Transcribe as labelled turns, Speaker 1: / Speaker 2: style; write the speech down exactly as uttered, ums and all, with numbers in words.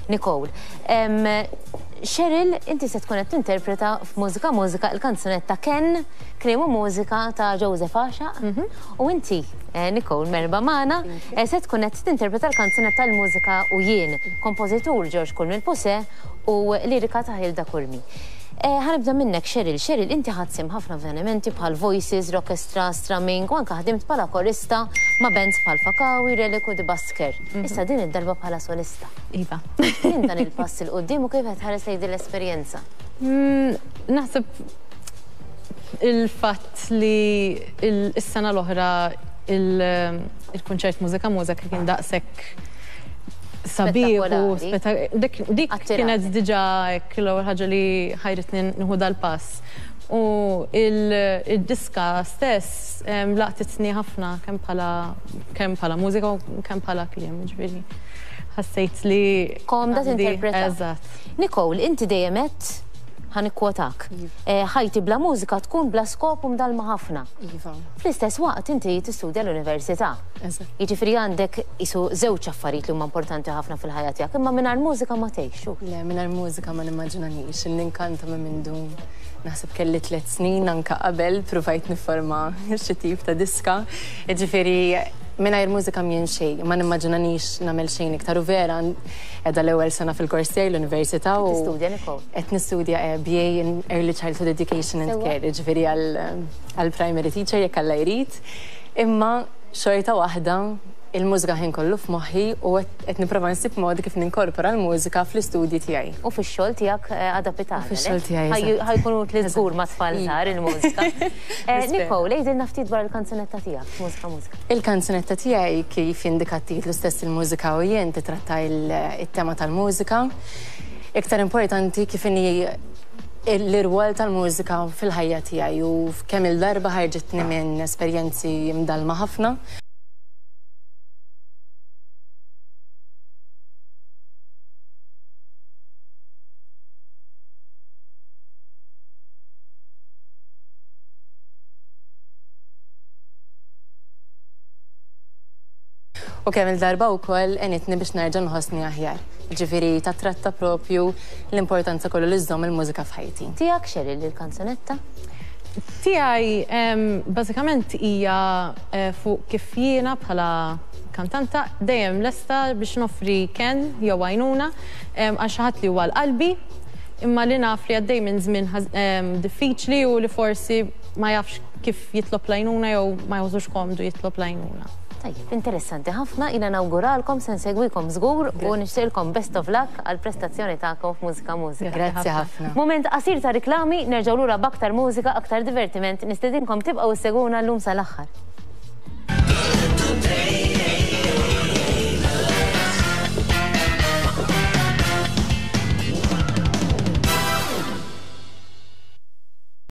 Speaker 1: Nicole. Em, Cheryl, inti se tkun qed tinterpreta f'Mużika Mużika il-kanzunetta Ken, kliem u mużika ta' Joseph Għaxaq. U inti, eh, Nicole, merħba magħna, eh, se tkun qed tinterpreta l-kanzunetta l-mużika u jien, kompożitur George Curmi l-Puse u lirika ta' Hilda Curmi. Eh, ħa nibda minnek, Cheryl. Cheryl, inti ħadt sehem ħafna avvenimenti bħal Voices, Orchestra, Strumming, u anka ħdimt bħala korista ma' bands bħal Fakawi, Relic u The Busker. Issa din id-darba bħala solista.
Speaker 2: Iva.
Speaker 1: Kien dan il-pass 'il quddiem u kif qed tħares lejn din l-esperjenza?
Speaker 2: Mm, Naħseb il-fatt li il-sena l-oħra il-kunċert Mużika Mużika kien daqshekk sabiħ u
Speaker 1: Spettakolari.
Speaker 2: dik dik
Speaker 1: Attirati.
Speaker 2: kienet diġà hekk l-ewwel ħaġa li ħajritni nieħu dal-pass. U il-diska stess em, laqtitni ħafna kemm bħala kemm bħala mużika u kemm bħala kliem, ġifieri. Ħassejt li
Speaker 1: Komda
Speaker 2: għandi-
Speaker 1: tinterpreta.
Speaker 2: Eżatt.
Speaker 1: Nicole, inti dejjem qed ħa nikkwotak. Eh, Ħajti bla mużika tkun bla skop u mdalma ħafna.
Speaker 3: Iva,
Speaker 1: Fl-istess waqt inti tistudja l-università.
Speaker 3: eżatt.
Speaker 1: Jiġifieri għandek isu żewġ affarijiet li huma importanti ħafna fil-ħajja tiegħek, imma mingħajr mużika ma tgħixu.
Speaker 3: Le, mingħajr mużika ma nimmaġinanix, ninkanta minn mindu naħseb kelli tliet snin anka qabel provajt niforma xi tip ta' diska. Ġifieri mingħajr mużika mjien xejn, ma nimmaġinanix nagħmel xejn iktar u vera qiegħda l-ewwel sena fil-kors tiegħi l-università u
Speaker 1: Tistudja, Nicole?
Speaker 3: qed nistudja eh, B A in Early Childhood Education and
Speaker 1: Sewwa.
Speaker 3: Care, ġifieri għal primary teacher jekk Alla jrid. Imma xorta waħda il-mużika ħin kollu f'moħħi u qed nipprova nsib modi kif ninkorpora l-mużika fl-istudji tiegħi.
Speaker 1: U fix-xogħol tiegħek eh, għada pitgħada.
Speaker 3: U fix-xogħol tiegħi, eżatt.
Speaker 1: Ħa jkun utli żgur ma' tfal żgħar il-mużika. Eh,
Speaker 3: Nispera.
Speaker 1: Nicole, għidilna ftit dwar il-kanzunetta tiegħek, Mużika Mużika.
Speaker 3: Il-kanzunetta tiegħi kif jindika t-titlu stess, il-mużika u jien, titratta il- it-tema tal-mużika. Iktar importanti kif inhi l-irwol tal-mużika fil-ħajja tiegħi u kemm il-darba ħarġitni minn esperjenzi mdalma ħafna. U kemm il-darba wkoll għenitni biex nerġa' nħossni aħjar. Ġifieri tatratta propju l-importanza kollu li żżomm il-mużika f'ħajti.
Speaker 1: Tiegħek, Cheryl, il-kanzunetta?
Speaker 2: Tiegħi em, bażikament hija eh, fuq kif jiena bħala kantanta dejjem lesta biex noffri kenn jew għajnuna em, għal xi ħadd li huwa l-qalbi imma li naf li għaddej minn żmien ħaż- em, diffiċli u li forsi ma jafx kif jitlob l-għajnuna jew ma jħossux komdu jitlob l-għajnuna.
Speaker 1: Tajjeb, interessanti ħafna, jiena nawguralkom, se nsegwikom żgur u nixtieqilkom best of luck għal prestazzjoni tagħkom f'Mużika Mużika.
Speaker 3: Grazzi ħafna.
Speaker 1: Moment qasir ta' riklami, nerġgħu lura b'aktar mużika, aktar divertiment, nistedinkom tibqgħu ssegwuna llum sal-aħħar.